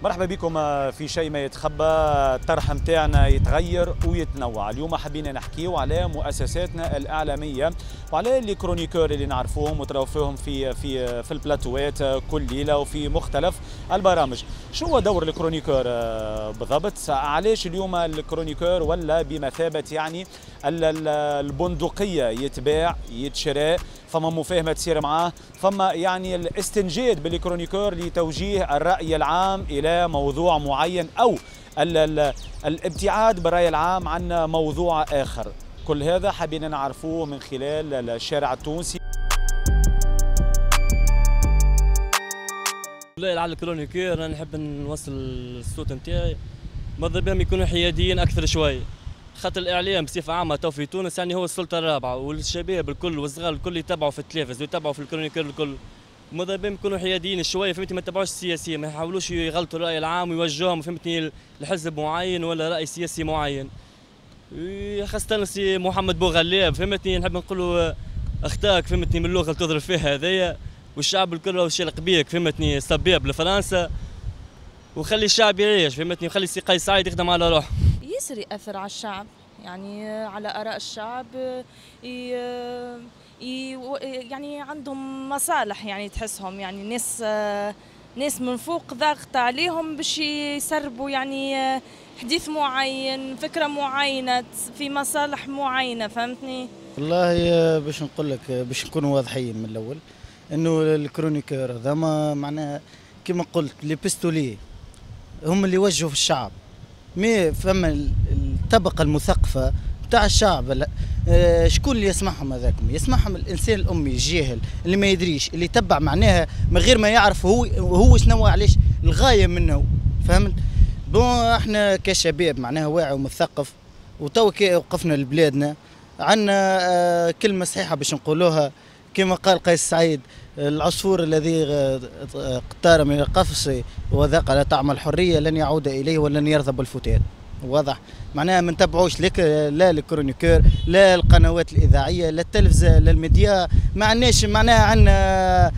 مرحبا بكم في شيء ما يتخبى. الطرح متاعنا يتغير ويتنوع. اليوم حبينا نحكيو على مؤسساتنا الإعلامية وعلى les chroniqueurs اللي نعرفوهم وتراو فيهم في في في البلاتوات كل ليلة وفي مختلف البرامج. شو هو دور ال chroniqueur بالضبط؟ علاش اليوم ال chroniqueur ولا بمثابة يعني البندقية، يتباع يتشرى، فما مفاهمة تصير معاه، فما يعني الاستنجاد بال chroniqueur لتوجيه الرأي العام إلى موضوع معين أو الابتعاد بالرأي العام عن موضوع آخر. كل هذا حابين نعرفوه من خلال الشارع التونسي. والله على ال chroniqueur انا نحب نوصل الصوت نتاعي، ماذا بهم يكونوا حياديين اكثر شوي، خاطر الاعلام بصفة عامة تو في تونس يعني هو السلطة الرابعة، والشباب الكل والصغار الكل يتبعوا في التلفز ويتبعوا في ال chroniqueur الكل. ماذا بهم يكونوا حياديين شوية، فهمتني، ما يتبعوش السياسية، ما يحاولوش يغلطوا الراي العام ويوجهوهم فهمتني لحزب معين ولا راي سياسي معين. خاصة سي محمد بوغلاب فهمتني، نحب نقولوا اختاك فهمتني من اللغة اللي تضرب فيها هذايا، والشعب الكل راهو شالق بيك فهمتني، صبيب لفرنسا، وخلي الشعب يعيش فهمتني، وخلي سي قيس سعيد يخدم على روحه. ياسر يأثر على الشعب، يعني على آراء الشعب، يعني عندهم مصالح، يعني تحسهم يعني ناس من فوق ضاغطة عليهم باش يسربوا يعني حديث معين، فكرة معينة، في مصالح معينة فهمتني. والله باش نقول لك، باش نكونوا واضحين من الأول، انه ال chroniqueur هذا ما معناها كما قلت les pistolets هم اللي يوجهوا في الشعب، mais فما الطبقة المثقفه تاع الشعب شكون اللي يسمعهم؟ هذاكم يسمعهم الانسان الامي الجاهل اللي ما يدريش، اللي يتبع معناها من غير ما يعرف هو شنو علاش الغاية منه، فهمت؟ bon احنا كشباب معناها واعي ومثقف، وتو كي وقفنا لبلادنا عندنا كلمة صحيحه باش نقولوها، كما قال قيس سعيد: العصفور الذي اقتار من القفص وذاق على طعم الحرية لن يعود إليه ولن يرضى بالفتات. واضح معناها ما نتبعوش لك لا ال chroniqueur، لا القنوات الإذاعية، لا التلفزة، لا الميديا. ما عندناش معناها عندنا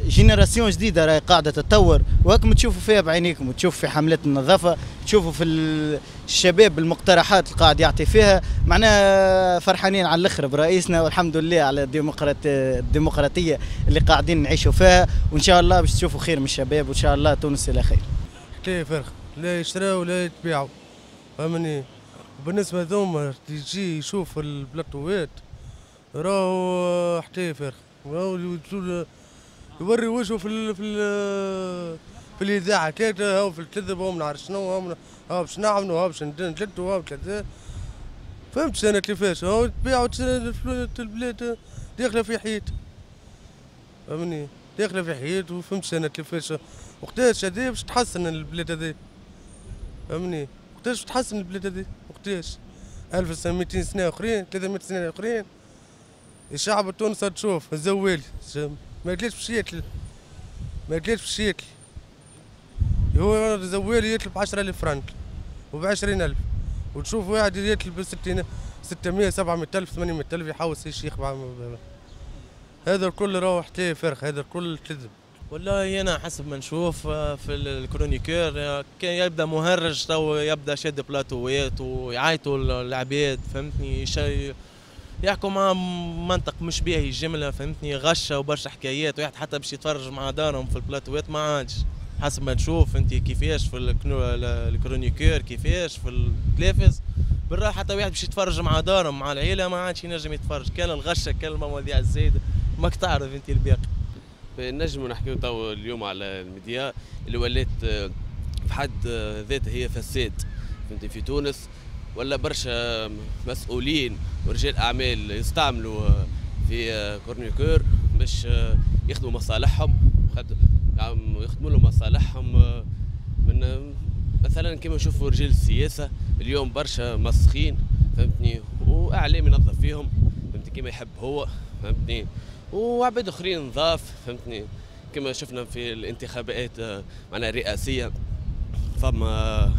génération جديدة راهي قاعدة تتطور، وهاكم تشوفوا فيها بعينيكم، وتشوفوا في حملات النظافة، تشوفوا في الشباب المقترحات اللي قاعد يعطي فيها، معناها فرحانين على الاخر برئيسنا، والحمد لله على الديمقراطية اللي قاعدين نعيشوا فيها، وان شاء الله باش تشوفوا خير من الشباب، وان شاء الله تونس الى خير. حكاية فرخ لا يشراو ولا يتباعوا، فهمني. بالنسبة ذوما يجي يشوف البلاطوات راهو حكاية فرخ، راهو يوري وجهه في في الاذاعة كذا، هاو في الكذب، هاو ما نعرف شنو، هاو باش نعملوا، هاو باش نجدوا، هاو كذا، فهمت انا كيفاش؟ هاو تبيعوا البلاد داخله في حيط، فهمني، داخله في حيط، وفهمت انا كيفاش؟ وقتاش هذه باش تحسن البلاد هذه؟ فهمني، وقتاش باش تحسن البلاد هذه؟ وقتاش؟ 1200 سنة اخرين، 300 سنة اخرين، الشعب التونسي تشوف الزوالي ما ياكلش باش ياكل، ما ياكلش باش ياكل، هو الزوالي ياكل ب 10000 فرنك وب 20000، وتشوف واحد ياكل ب 60 600 700000 800000 يحوس يشيخ. هذا الكل راهو حكاية فرخ، هذا الكل كذب. والله انا حسب ما نشوف في ال chroniqueur كان يبدا مهرج، تو يبدا شاد بلاتوات ويعيطوا العباد فهمتني، يحكوا مع منطق مش باهي الجملة فهمتني، غشه وبرشا حكايات، واحد حتى باش يتفرج مع دارهم في البلاتوات ما عادش. حسب ما نشوف انت كيفاش في ال chroniqueur، كيفاش في التلفز بالراحة، حتى واحد باش يتفرج مع دارهم مع العيلة ما عادش ينجم يتفرج، كان الغشه كان المواضيع الزايدة ماك تعرف انت الباقي. نجموا نحكيو تو اليوم على الميديا اللي ولات في حد ذاتها هي فساد فهمتي في تونس، ولا برشا مسؤولين ورجال اعمال يستعملوا في chroniqueur باش يخدموا مصالحهم، يخدموا لهم مصالحهم. من مثلا كما نشوفوا رجال السياسة اليوم برشا مسخين فهمتني، واعلام ينظف فيهم فهمتني كما يحب هو فهمتني، وعباد اخرين نظاف فهمتني، كما شفنا في الانتخابات معناها الرئاسية، فما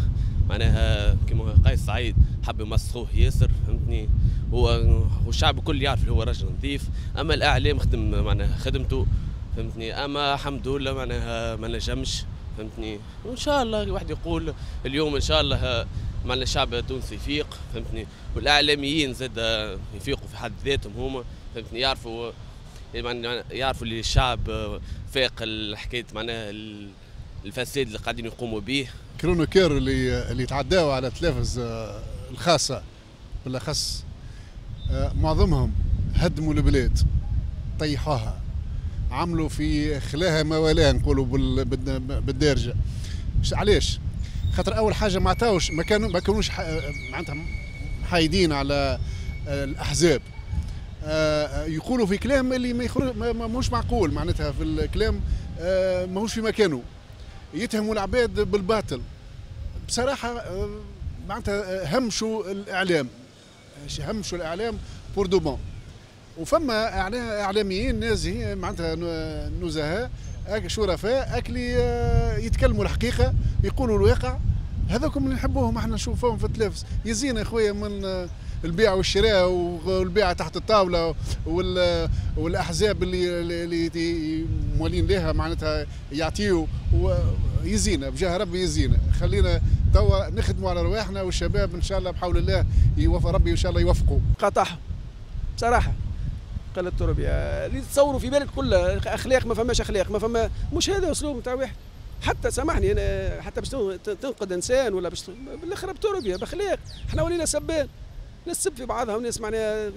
معناها كما قيس سعيد حب يمسخوه ياسر فهمتني، هو والشعب الكل يعرف اللي هو رجل نظيف، اما الاعلام خدم معناها خدمته فهمتني، اما الحمد لله معناها ما نجمش فهمتني. وان شاء الله الواحد يقول اليوم ان شاء الله معنا الشعب التونسي يفيق، فهمتني، والاعلاميين زاد يفيقوا في حد ذاتهم هما، فهمتني، يعرفوا يعرفوا اللي الشعب فاق الحكاية معناها الفساد اللي قاعدين يقوموا به. chroniqueurs اللي تعداوا على التلفز الخاصة بالاخص معظمهم هدموا البلاد، طيحوها، عملوا في خلاها ما ولاها نقولوا بالدارجة. علاش؟ خاطر اول حاجة ما عطاوش، ما كانوش معناتها محايدين على الاحزاب، يقولوا في كلام اللي ما يخرج ماهوش معقول، معناتها في الكلام ماهوش في مكانه، يتهموا العباد بالباطل. بصراحة معناتها همشوا الاعلام، همشوا الاعلام pour de bon. وفما اعلاميين نازهين معناتها نزهاء شرفاء اكلي يتكلموا الحقيقة، يقولوا الواقع، هذوكم اللي نحبوهم احنا نشوفوهم في التلفز. يزينا يا خويا من البيع والشراء والبيع تحت الطاولة والاحزاب اللي موالين لها معناتها يعطيو، يزينا بجاه ربي يزينا. خلينا توا نخدموا على رواحنا، والشباب ان شاء الله بحول الله يوفق ربي ان شاء الله يوفقوا. قطعهم بصراحة قلة التربية اللي تصوروا في بالك كلها اخلاق، ما فماش اخلاق، ما فما، مش هذا اسلوب نتاع واحد. حتى سامحني انا، حتى باش تنقد انسان ولا باش بالاخر بتربيه باخلاق، احنا ولينا سبان، ناس تسب في بعضها وناس معناها.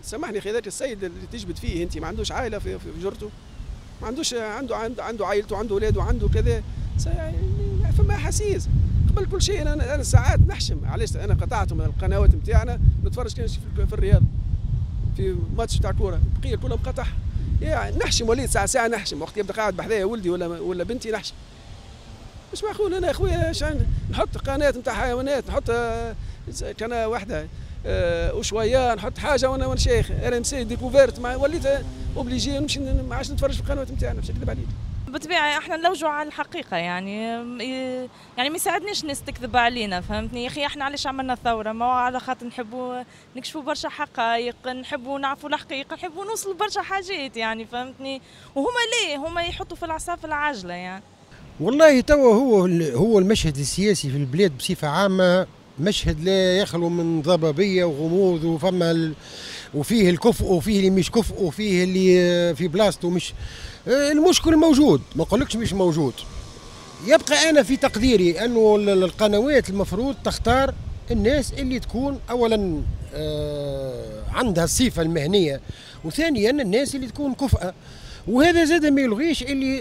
سامحني اخي، هذاك السيد اللي تجبد فيه انت ما عندوش عائلة في جرته، ما عندوش، عنده عائلته، عنده اولاده، عنده كذا، فما احاسيس قبل كل شيء. انا ساعات نحشم، علاش انا قطعت من القنوات نتاعنا نتفرج كان في الرياض في ماتش تاع كورة، البقية كلها مقطعها. يعني نحشم، وليت ساعة ساعة نحشم وقت يبدا قاعد بحذايا ولدي ولا بنتي نحشم. مش معقول انا يا خويا نحط قناة نتاع حيوانات، نحط قناة واحدة وشوية، نحط حاجة وانا شيخ RMC Découverte، وليت obligé نمشي ما عادش نتفرج في القنوات نتاعنا باش نكذب عليك. بالطبيعة احنا نلوجوا على الحقيقة، يعني ما يساعدناش الناس تكذب علينا، فهمتني يا اخي. احنا علاش عملنا الثورة؟ ما هو على خاطر نحبوا نكشفوا برشا حقائق، نحبوا نعرفوا الحقيقة، نحبوا نوصلوا برشا حاجات يعني، فهمتني. وهما ليه هما يحطوا في العصا في العجلة يعني. والله توا هو المشهد السياسي في البلاد بصفة عامة مشهد لا يخلو من ضبابية وغموض، وفما وفيه الكفء وفيه اللي مش كفء وفيه اللي في بلاصته مش. المشكل موجود، ما نقولكش مش موجود. يبقى انا في تقديري انه القنوات المفروض تختار الناس اللي تكون اولا عندها الصفة المهنية، وثانيا الناس اللي تكون كفءه. وهذا زاد ما يلغيش اللي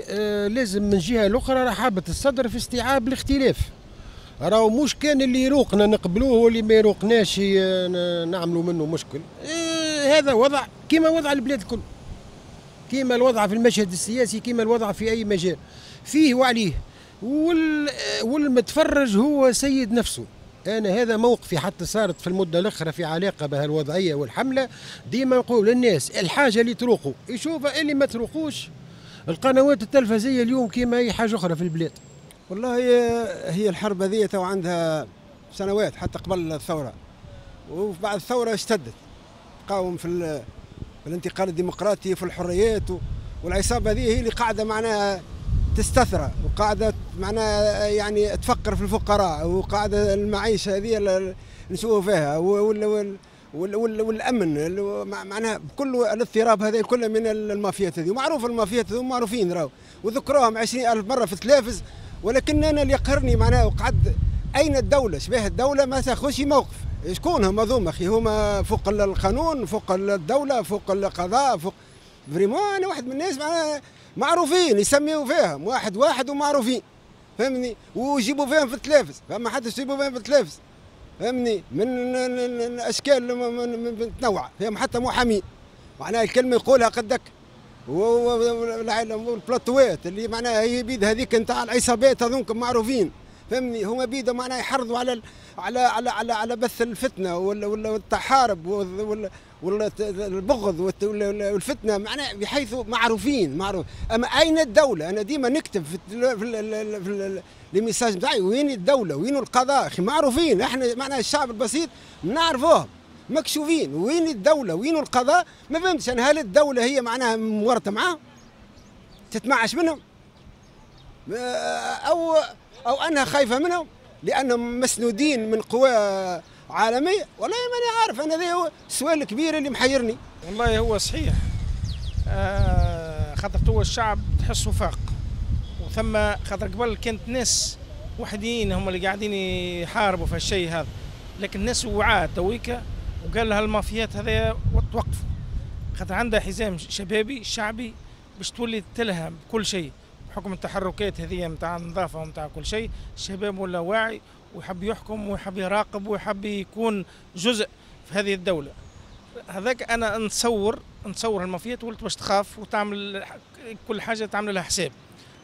لازم من جهة الاخرى رحابه الصدر في استيعاب الاختلاف. راهو مش كان اللي يروقنا نقبلوه واللي ما يروقناش نعملوا منه مشكل. هذا وضع كما وضع البلاد الكل، كما الوضع في المشهد السياسي، كما الوضع في أي مجال فيه وعليه. والمتفرج هو سيد نفسه. أنا هذا موقفي حتى صارت في المدة الأخرى في علاقة بهالوضعية والحملة، ديما نقول للناس الحاجة اللي تروقوا يشوفها، اللي ما تروقوش. القنوات التلفزية اليوم كما أي حاجة أخرى في البلاد. والله هي الحرب هذه تو عندها سنوات حتى قبل الثورة، وبعد الثورة اشتدت، تقاوم في الانتقال الديمقراطي في الحريات، والعصابة هذه هي اللي قاعدة معناها تستثرى، وقاعدة معناها يعني تفقر في الفقراء، وقاعدة المعيشة هذه اللي نشوفوا فيها والأمن معناها كل الاضطراب هذا كله من المافيات هذه، ومعروف المافيات هذو معروفين راهو، وذكروهم 20,000 مرة في التلفز. ولكن أنا اللي يقهرني معناها وقعد أين الدولة؟ شبه الدولة ما تاخذش موقف. شكون هما ذوما أخي؟ هما فوق القانون، فوق الدولة، فوق القضاء، فوق vraiment. أنا واحد من الناس معناها معروفين يسميوا فيهم واحد واحد ومعروفين، فهمني، ويجيبوا فيهم في التلفز، فما حدش يجيبوا فيهم في التلفز، فهمني، من الاشكال متنوعة، فيهم حتى محامين معناها الكلمة يقولها قدك، والبلاطوات اللي معناها هي بيد هذيك نتاع العصابات هذوك معروفين، فهمني، هما بيد معناها يحرضوا على على على على, على بث الفتنة والتحارب والبغض والفتنة، معناها بحيث معروفين معروف. اما اين الدولة؟ انا ديما نكتب في les messages نتاعي وين الدولة؟ وين القضاء؟ اخي معروفين، احنا معناها الشعب البسيط نعرفوهم مكشوفين. وين الدولة؟ وين القضاء؟ ما فهمتش انا، هل الدولة هي معناها مورطه معاهم؟ تتمعش منهم؟ او انها خايفة منهم لانهم مسنودين من قوى عالمية. والله ماني عارف انا، هذا هو السؤال الكبير اللي محيرني. والله هو صحيح، خاطر تو الشعب تحسه فاق، وثم خاطر قبل كانت ناس وحدين هم اللي قاعدين يحاربوا في الشيء هذا، لكن الناس وعاة تويكا وقال لها المافيات هذا توقفوا، خاطر عندها حزام شبابي شعبي باش تولي تلها بكل شيء بحكم التحركات هذه نتاع النظافة ونتاع كل شيء. الشباب ولا واعي ويحب يحكم ويحب يراقب ويحب يكون جزء في هذه الدولة. هذاك انا نتصور المافيات ولت باش تخاف وتعمل كل حاجة تعمل لها حساب،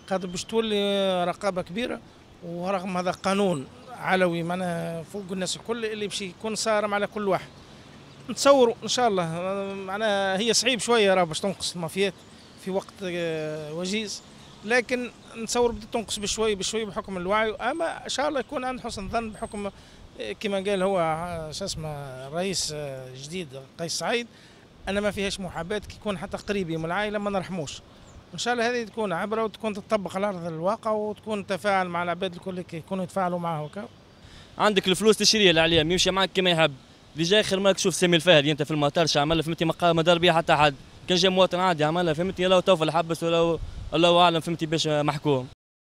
خاطر باش تولي رقابه كبيرة، ورغم هذا قانون علوي معناها فوق الناس الكل اللي باش يكون صارم على كل واحد. نتصوروا ان شاء الله معناها هي صعيب شوية راه باش تنقص المافيات في وقت وجيز، لكن نتصور بدات تنقص بشوي بشوي بحكم الوعي. اما ان شاء الله يكون عند حسن ظن بحكم كما قال هو شو اسمه الرئيس الجديد قيس سعيد، انا ما فيهاش محاباة، كي يكون حتى قريبي من العائلة ما نرحموش. ان شاء الله هذه تكون عبره وتكون تطبق على ارض الواقع وتكون تفاعل مع العباد الكل يكونوا يتفاعلوا معه. عندك الفلوس تشريه الاعلام يمشي معك كما يحب. اللي جاي خير ماك تشوف سامي الفهري انت في المطار عمل، فهمتي، ما دار بيه حتى حد. كان جاي مواطن عادي عملها، فهمتي، لو توفى الحبس ولا الله اعلم، فهمتي، باش محكوم.